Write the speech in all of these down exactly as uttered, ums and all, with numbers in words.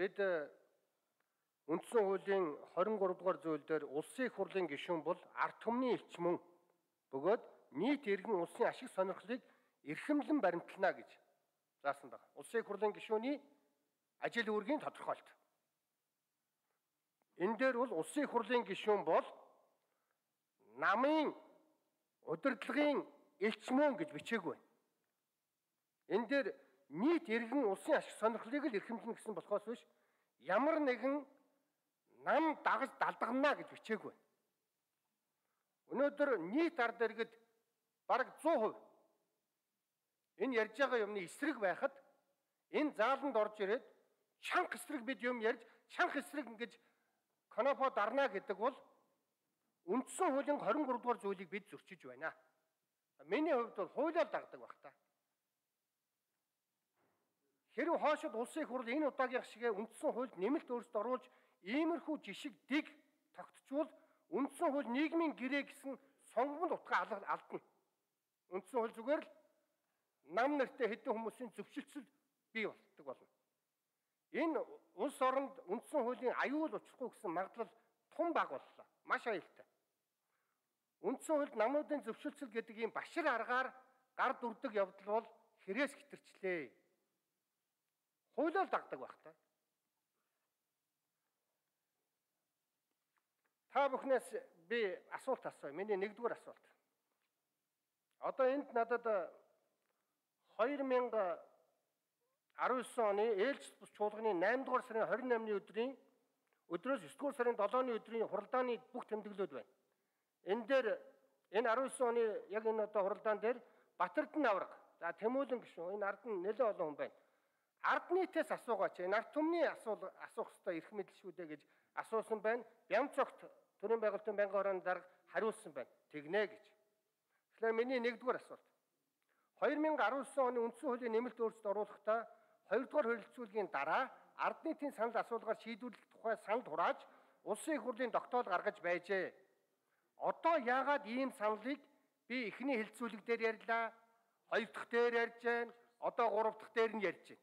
бид үндсэн хуулийн хорин гурав дугаар зүйл дээр улсын их хурлын гишүүн бол ард түмний элч мөн бөгөөд нийт иргэн улсын ашиг сонирхлыг эрхэмлэн баримтлана гэж заасан байна. Улсын их хурлын гишүүний ажил үүргийн тодорхойлт. Энэ дээр бол улсын их хурлын гишүүн бол намын удирдлагын элч мөн гэж бичээгүй. Энэ дээр нийт иргэн улсын ашиг сонирхлыг л эрхэмлэнэ гэсэн болохоос биш ямар нэгэн нам дагаж далдгана гэж бичээгүй. Өнөөдөр нийт ард иргэд бараг зуун хувь энэ ярьж байгаа юмны эсрэг байхад энэ зааланд орж ирээд чанга эсрэг бид юм ярьж чанга эсрэг ингэж конопо дарна гэдэг бол үндсэн хуулийн хорин гурав дугаар зүйлийг бид зөрчиж байна. Миний хувьд бол хуулиар дагдаг баг та. Хэрв хоошид улсын их хурл энэ удаагийн шиг үндсэн хуульд нэмэлт өөрчлөлт оруулж иймэрхүү жишг дэг тогтчвол үндсэн хууль нийгмийн гэрээ гэсэн сонгомд утга алдна. Үндсэн хууль зүгээр л нам нартай хэдэн хүмүүсийн зөвшөлтсөл бий болдог болно. Энэ улс оронд үндсэн хуулийн аюул учрахгүй гэсэн магадлал тун бага боллоо. Маш аюултай. Үндсэн хуульд намуудын зөвшөлтсөл гэдэг ийм башир аргаар гар дүрдэг явдал бол хэрэгс хэтэрчлээ. Хуулиар дагдаг байх та. Та бүхнээс би асуулт асууя. Миний нэгдүгээр асуулт. Одоо энд надад две тысячи десять оны ээлж бус чуулганы наймдугаар сарын двадцать восьмны өдрийн өдрөөс девятдугаар сарын седьмийн өдрийн хуралдааны бүх тэмдэглэлүүд байна. Энэ дээр энэ десять оны яг энэ одоо хуралдаан дээр Батэрдэн авраг, за Тэмүүлэн гишүүн энэ ард нь нэлээд олон хүн байна. Ард нийтээс асуугаач. Энэ ард түмний асуулт асуух ёстой эрх мэдэл шүү дээ гэж асуусан байна. Бямцогт төрийн байгуулалтын байнгын хорооны дарга хариулсан байна. Тэгнэ гэж. Тэгэхээр миний нэгдүгээр асуулт. две тысячи десять оны үндсэн хуулийн нэмэлт өөрчлөлт оруулахдаа хоёрдугаар хөрөлцүүлгийн дараа ард нийтийн санал асуулгаар шийдвэрлэх тухай санал хурааж улсын их хурлын тогтоол гаргаж байжээ. Одоо яагаад ийм саналыг би эхний хэлэлцүүлэг дээр ярьлаа, хоёр дахь дээр ярьж байна, одоо гурав дахь дээр нь ярьж байна.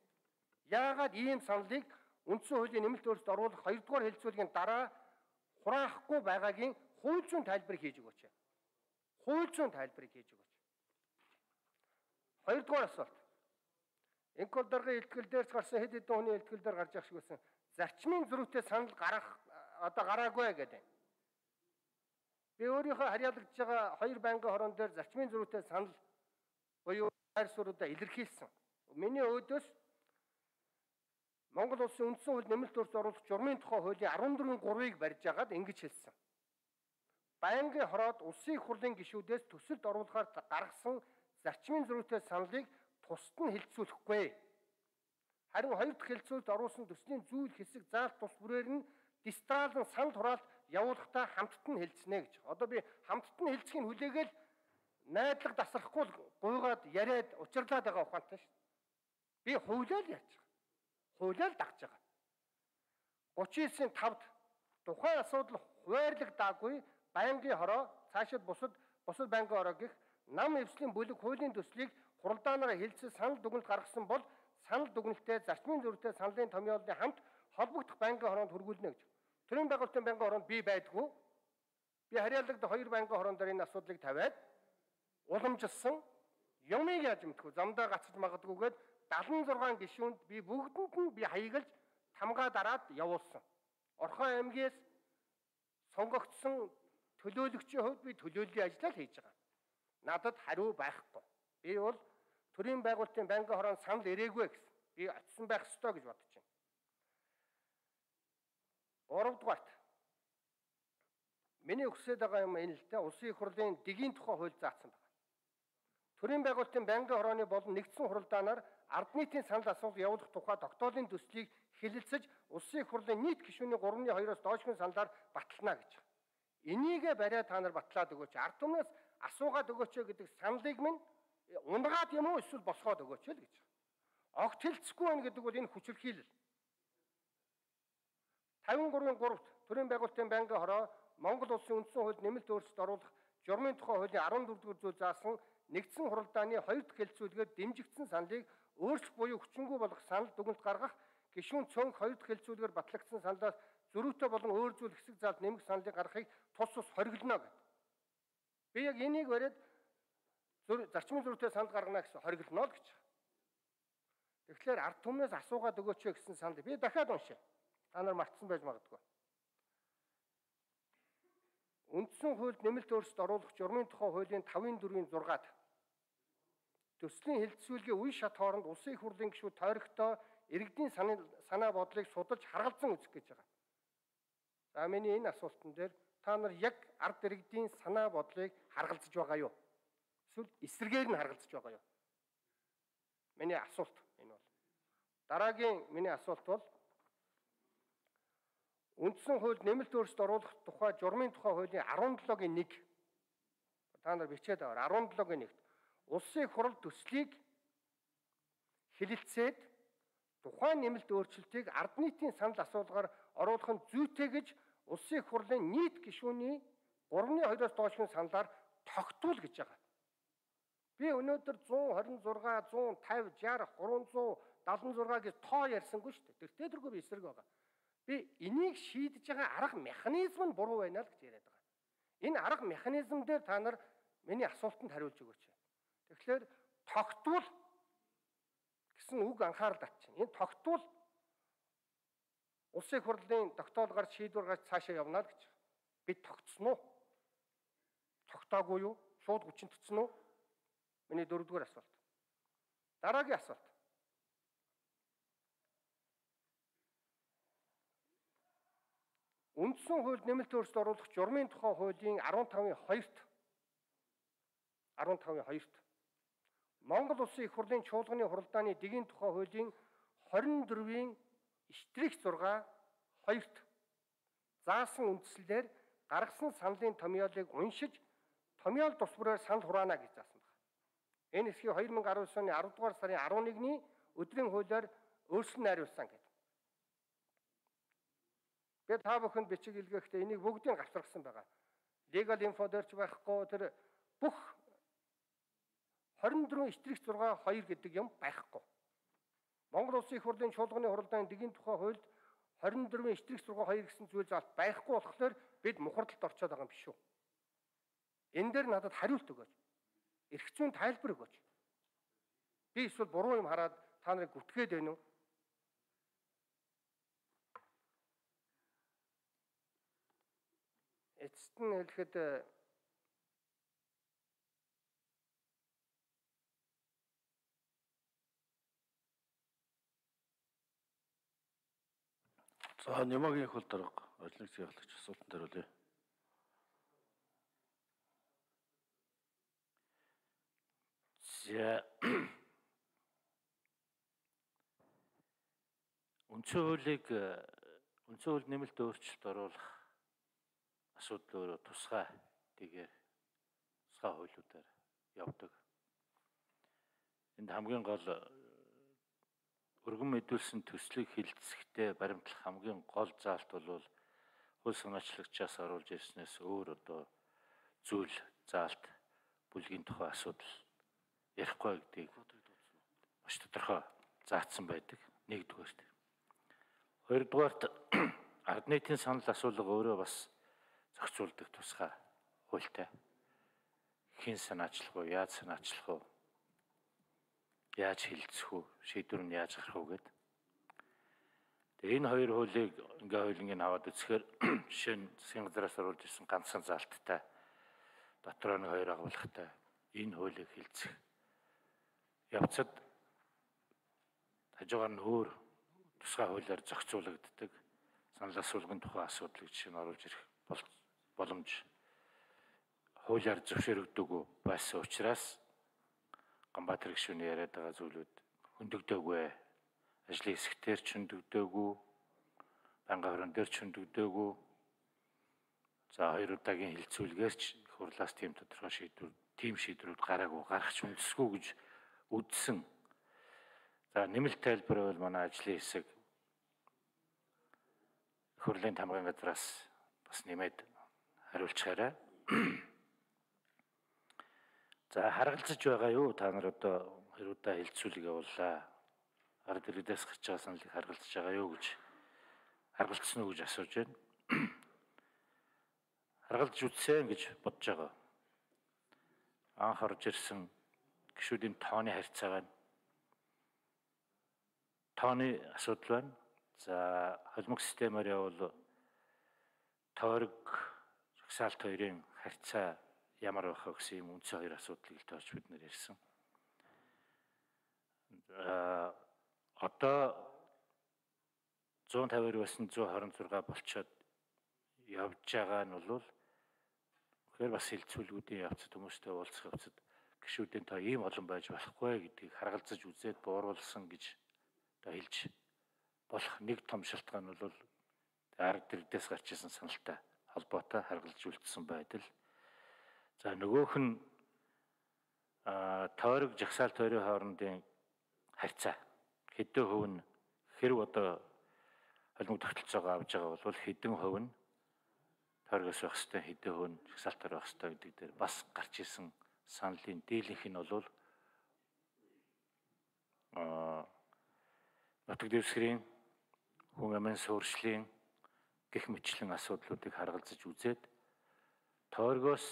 Яагаад ийм саналыг үндсэн хуулийн нэмэлт өөрчлөлт оруулах хоёрдугаар хэлэлцүүлгийн дараа хураахгүй байгаагийн хууль зүйн тайлбарыг хийж өгөөч. Хууль зүйн тайлбарыг хийж өгөөч. Хоёрдугаар асуулт. Энкол даргын илтгэл дээрс гарсан хэд хэдэн хүний илтгэл дээр гарч явах шиг байсан. Зарчмын зөрүүтэй санал гарах одоо гараагүй гэдэг. Би өөрийнхөө харьяалагдж байгаа хоёр байнгын хорон дээр зарчмын зөрүүтэй санал буюу хайр суруудаа илэрхийлсэн. Миний өөдөөс Монгол улсын үндсэн хууль нэмэлт өөрчлөлт оруулах журмын тухай хуулийн дөрвөн гурвыг барьж агаад ингэж хэлсэн. Байнгын хороод улсын их хурлын гишүүдээс төсөлд оруулахаар гаргасан зарчмын зөрүүтэй саналыг тусад нь хэлэлцүүлэхгүй. Харин хоёр дахь хэлэлцүүлэлт оруулсан төслийн зүйл хэсэг заалт тус бүрээр нь дистралын санал хураалт явуулахдаа хамтд нь хэлцэнэ гэж. Одоо би хамтд нь хэлцхийн хүлээгээл найдлага тасрахгүй гуйгаад яриад учирлаад байгаа ухаантай шүү. Би хуулиар яаж байгаа. Хуулиар дагж байгаа. гучин девятийн тавд тухайн асуудал хуваарлагдаагүй байнгын хороо цаашид бусад бусад байнгын хороо гэх нам эвслийн бүлэг хуулийн төслийг хуралдаанаараа хэлцэл санал дүгнэлт гаргасан бол санал дүгнэлтээ зарчмын зөрүүтэй саналын томьёолны хамт холбогдох байнгын хороонд хүргүүлнэ гэж. Төрийн байгуулалтын байнгын хороонд би байдгүй. Би харьяалагдах хоёр байнгын хороон дээр энэ асуудлыг тавиад уламжилсан юмыг яаж мэдгүй замдаа гацж магадгүйгээд седьмдесят шесть гишүүнд би бүгдэнд нь би хаягалж тамгаа дараад явуулсан. Орхон аймгээс сонгогдсон төлөөлөгчийн хувьд би төлөөллийн ажлаа хийж байгаа. Надад хариу байхгүй. Би бол төрийн байгуулалтын байнгын хороонд санал ирээгүй гэсэн. Би очисон байх ёстой гэж бодож байна. Гуравдугаарт миний хүсэж байгаа юм энэ л дээ улсын их хурлын дэгийн тухай хууль заасан байна. Төрийн байгуулалтын байнгын хорооны болон нэгдсэн хуралдаанаар ард нийтийн санал асуулт явуулах тухай тогтоолын төслийг хэлэлцэж улсын их хурлын нийт гишүүний гуравны хоёроос доошгүй саналаар батлана гэж. Энийгээ бариа та нар батлаад өгөөч. Ард түмнээс асуугаад өгөөч гэдэг саналыг минь унгаад юм уу эсвэл босгоод өгөөч л гэж. Огт хэлцэхгүй байна гэдэг бол энэ хүчирхийлэл. пятьдесят три-ийн гуравт төрийн байгуулалтын байнгын хороо Монгол улсын үндсэн хуульд нэмэлт өөрчлөлт оруулах журмын тухай хуулийн дөрвөн зүйл заасан нэгдсэн хуралдааны хоёр дахь хэлэлцүүлгээр дэмжигдсэн саналыг өөрчлөх буюу хүчингүй болгох санал дүгнэлт гаргах гишүүн цөөнх хоёр дахь хэлцүүлгээр батлагдсан саналаас зөрүүтэй болон өөр зүйл хэсэг заалд нэмэх саналыг гаргахыг тус тус хориглоно гэдэг. Би яг энийг бариад зарчмын зөрүүтэй санал гаргана гэсэн хориглоно л гэж. Тэгэхээр ард түмнээс асуугаад өгөөч гэсэн санал. Би дахиад уншия. Та нар мартсан байж магадгүй. Үндсэн хуульд нэмэлт өөрчлөлт оруулах журмын тухай хуулийн тавын дөрвийн зургаад төслийн хэлэлцүүлгийн үе шат хооронд улсын их хурлын гишүүд тойрогтой иргэдийн санаа бодлыг судалж харгалзан үзэх гэж байгаа. За миний энэ асуултан дээр та нар яг ард иргэдийн санаа бодлыг харгалзаж байгаа юу? Эсвэл эсрэгээр нь харгалзаж байгаа юу? Миний асуулт энэ бол. Дараагийн миний асуулт бол үндсэн хуульд нэмэлт өөрчлөлт оруулах тухай журмын тухай хуулийн арван долоогийн нэг та нар бичээд аваар арван долоогийн нэгт улсын их хурл төслийг хэлэлцээд тухайн нэмэлт өөрчлөлтийг ард нийтийн санал асуулгаар оруулах нь зүйтэй гэж улсын их хурлын нийт гишүүний гуравны хоёроос доошгийн саналаар тогтвол гэж байгаа. Би өнөөдөр зуун хорин зураг, зуун тавь, шарх, гурван зуун дадлан зураг гэж тоо ярьсангүй шүү дээ. Тэр тэргүй би эсрэг байгаа. Би энийг шийдэж байгаа арга механизм нь буруу байна л гэж яриад байгаа. Энэ арга механизм дээр та нар миний асуултанд хариулж өгөөч. Тэгэхээр тогтвол гэсэн үг анхаарал татчихна. Энэ тогтвол улсын их хурлын тогтоолгоор шийдвэр гарч цаашаа явна л гэж. Бид тогтсон уу? Тогтоогүй юу? Шууд хүчин тутсан уу? Миний дөрөвдүгээр асуулт. Дараагийн асуулт. Үндсэн хуульд нэмэлт өөрчлөлт оруулах журмын тухай хуулийн арван тавын хоёрт арван тавын хоёрт Монгол Улсын их хурлын чуулганы хуралдааны дэгийн тухай хуулийн хорин дөрвийн штрих зураг хоёрт заасан үндслээр гаргасан саналын томьёолыг уншиж томьёол тус бүрээр санал хураана гэж заасан байна. Энэ хэсгийг хоёр мянга араван оны арав дугаар сарын арван нэгний өдрийн хуулиар өөрчлөн найруулсан гэдэг. Би та бүхэнд бичиг илгээхдээ энийг бүгдийг гавцаргасан байгаа. Legal info дээрч байхгүй тэр бүх хорин дөрвөн штрих зураг хоёр гэдэг юм байхгүй. Монгол Улсын их хурлын чуулганы хуралдааны дэгийн тухай хуульд хорин дөрвөн штрих зураг хоёр гэсэн зүйл заалт байхгүй болохоор бид мухардалд орчоод байгаа юм биш үү? Энэ дээр надад хариулт өгөөч. Эрх зүйн тайлбар өгөөч. Би эсвэл буруу юм хараад та нарыг гүтгээд байна уу? Эцэст нь хэлэхэд за Нямагийн их хурл дарга ажлын хэсгийн ахлагч асуултанд хариулъя. За үндсэн хуулийг үндсэн хууль нэмэлт өөрчлөлт оруулах асуудал өөрөө тусгай тэгээр тусгай хуулиудаар явдаг. Энд хамгийн гол өргөн мэдүүлсэн төслийг хилцэхдээ баримтлах хамгийн гол заалт бол хууль санаачлагчаас оруулж ирснээс өөр одоо зүйл заалт бүлгийн тухай асуудал ярихгүй гэдгийг маш тодорхой заасан байдаг. Нэгдүгээрт. Хоёрдугаарт ард нийтийн санал асуулга өөрөө бас зохицуулдаг тусгай хуультай. Хэн санаачлах уу, яаж санаачлах уу, яаж хилцэх үү, шийдвэр нь яаж гарах уу гэдэг. Тэгээ энэ хоёр хуулийг ингээ хуулийг аваад үзэхээр жишээ нь засгийн газраас оруулж ирсэн ганцхан заалттай дотроо нэг хоёр агуулгатай энэ хуулийг хилцэх явцад хажуугаар нь өөр тусгай хуулиар зохицуулагддаг санал асуулгын тухай асуудлыг жишээ нь оруулж ирэх боломж хуулиар зөвшөөрөгдөөгүй байсан учраас Ганбаатар гишүүний яриад байгаа зүйлүүд хөндөгдөөгүй, ажлын хэсгээр ч хөндөгдөөгүй, банга хорон дээр ч хөндөгдөөгүй. За хоёр удаагийн хилцүүлгээр ч хурлаас тийм тодорхой шийдвэр, тийм шийдвэрүүд гараагүй, гарах ч үндэсгүй гэж үздсэн. За нэмэлт тайлбар бол манай ажлын хэсэг хурлын тамгын газраас бас нэмээд хариулчихаарай. За харгалзаж байгаа юу? Та нар одоо хоёр удаа хилцүүлэг явууллаа. ард иргэдээс гарч байгаа саналыг харгалзаж байгаа юу гэж харгалцсан уу гэж асууж байна. Харгалзаж үзсэн гэж бодож байгаа. Анх орж ирсэн гишүүдийн тооны харьцаа байна. Тооны асуудал байна. За холимог системээр явбал тойрог жагсаалт хоёрын харьцаа ямар байх вэ гэсэн юм үндсэн хоёр асуудлыг л тоож бид нэр ярьсан. А одоо зуун тавиар байсан зуун хорин зураг болчиход явж байгаа нь бол тэгэхээр бас хилцүүлгүүдийн явцад хүмүүстэй уулзах явцад гишүүдийн тоо ийм олон байж болохгүй гэдгийг харгалзаж үзээд бууруулсан гэж одоо хэлж болох нэг том шалтгаан нь бол ард иргэдээс гарч ирсэн саналтай холбоотой харгалзаж үлдсэн байдал. За нөгөөх нь тойрог жагсаалт хоёрын хоорондын харьцаа хэдэн хувь нь хэрв одоо холимог тогтолцоогоо авж байгаа бол хэдэн хувь нь тойрогоос байх хэвээр хэдэн хувь нь жагсаалтаар байх хэвээр гэдэг дээр бас гарч ирсэн саналын дийлэнх нь бол аа нутаг дэвсгэрийн хүн амын суурьшлийн гэх мэтлэн асуудлуудыг харгалзаж үзээд тойрогоос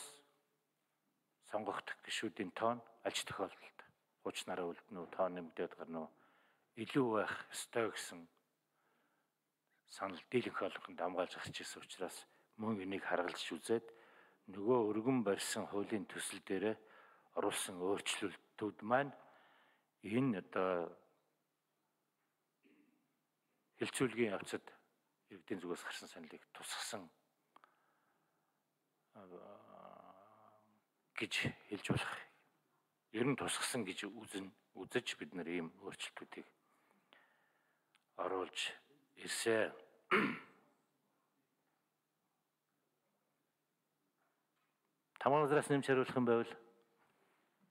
сонгогдох гишүүдийн тоон аль ч тохиолдолд хуучнараа үлдэнэ үү, тоон нэмэгдээд гарна уу, илүү байх ёстой гэсэн санал дийлэнх болгонд хамгаалж гарч ирсэн учраас мөн энийг харгалзаж үзээд нөгөө өргөн барьсан хуулийн төсөл дээрээ оруулсан өөрчлөлтүүд маань энэ одоо хилцүүлгийн явцад иргэдийн зүгээс гарсан саналыг тусгасан гэж хэлж болох. Ер нь тусгасан гэж үзэн үзэж бид нар ийм өөрчлөлтүүдийг оруулж ирсэн. Тамаазраас нэмж хариулах юм байвал